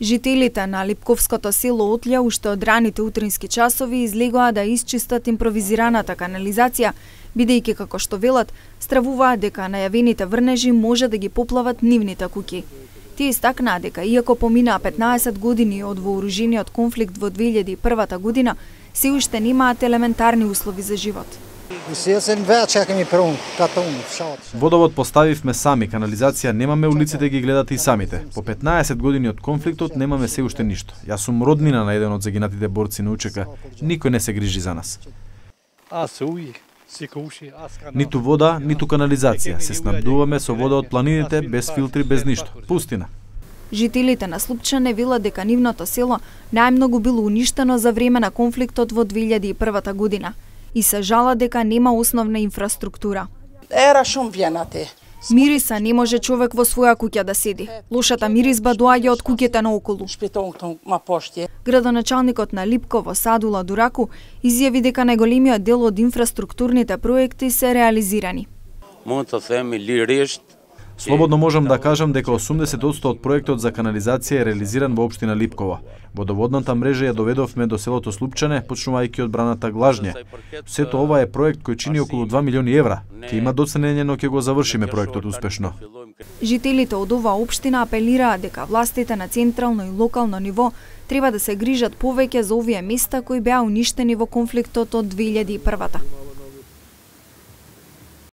Жителите на Липковското село Отлја уште од раните утрински часови излегоа да исчистат импровизираната канализација, бидејќи како што велат, стравуваат дека најавените врнежи може да ги поплават нивните куќи. Тие истакнаа дека иако поминаа 15 години од вооружениот конфликт во 2001 година, се уште немаат елементарни услови за живот. Водовод поставивме сами, канализација немаме, улиците ги гледате и самите. По 15 години од конфликтот немаме се уште ништо. Јас сум роднина на еден од загинатите борци на УЧК. Никој не се грижи за нас. Ниту вода, ниту канализација. Се снабдуваме со вода од планините, без филтри, без ништо. Пустина. Жителите на Слупчане велат дека нивното село најмногу било уништено за време на конфликтот во 2001 година и се жала дека нема основна инфраструктура. Мириса не може човек во своја куќа да седи. Лошата миризба доаѓа од куќите наоколу. Градоначалникот на Липково Садула Дураку изјави дека најголемиот дел од инфраструктурните проекти се реализирани. Слободно можам да кажам дека 80% од проектот за канализација е реализиран во општина Липкова. Водоводната мрежа ја доведовме до селото Слупчане, почнувајќи од браната Глажње. Сето ова е проект кој чини околу 2 милиони евра. Ќе има доценење, но ќе го завршиме проектот успешно. Жителите од оваа општина апелираа дека властите на централно и локално ниво треба да се грижат повеќе за овие места кои беа уништени во конфликтот од 2001.